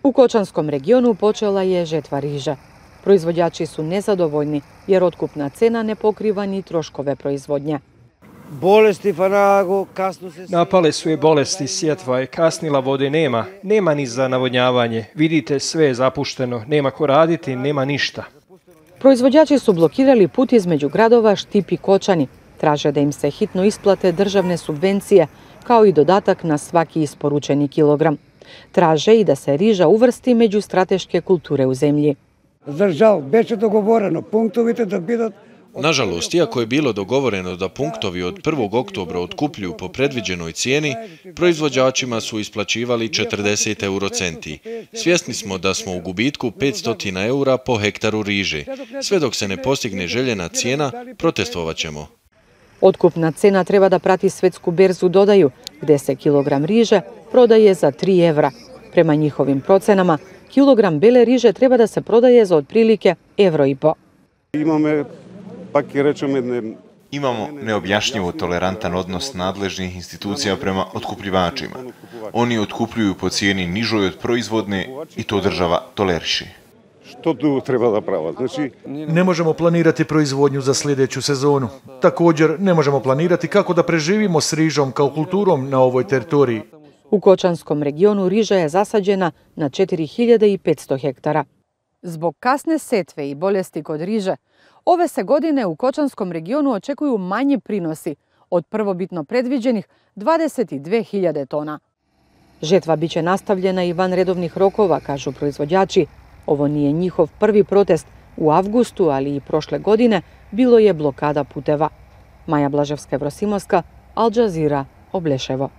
U Kočanskom regionu počela je žetva riže. Proizvođači su nezadovoljni jer otkupna cena ne pokriva ni troškove proizvodnje. Napale su je bolesti, sjetva je, kasnila, vode nema ni za navodnjavanje. Vidite, sve je zapušteno, nema ko raditi, nema ništa. Proizvođači su blokirali put između gradova Štip i Kočani. Traže da im se hitno isplate državne subvencije, kao i dodatak na svaki isporučeni kilogram. Traže i da se riža uvrsti među strateške kulture u zemlji. Nažalost, iako je bilo dogovoreno da punktovi od 1. oktobra otkupljuju po predviđenoj cijeni, proizvođačima su isplaćivali 40 eurocenti. Svjesni smo da smo u gubitku 500 eura po hektaru riže. Sve dok se ne postigne željena cijena, protestovat ćemo. Otkupna cena treba da prati svjetsku berzu, dodaju, gdje se kilogram riže prodaje za 3 evra. Prema njihovim procenama, kilogram bele riže treba da se prodaje za otprilike €1,5. Imamo neobjašnjivo tolerantan odnos nadležnih institucija prema otkupljivačima. Oni otkupljuju po cijeni nižoj od proizvodne i to država toleriše. Ne možemo planirati proizvodnju za sljedeću sezonu. Također ne možemo planirati kako da preživimo s rižom kao kulturom na ovoj teritoriji. U Kočanskom regionu riža je zasađena na 4500 hektara. Zbog kasne setve i bolesti kod riže, ove se godine u Kočanskom regionu očekuju manji prinosi od prvobitno predviđenih 22.000 tona. Žetva biće nastavljena i van redovnih rokova, kažu proizvođači. Ovo nije njihov prvi protest. U avgustu, ali i prošle godine, bilo je blokada puteva. Maja Blaževska-Vrosimovska, Al Jazeera, Obleševo.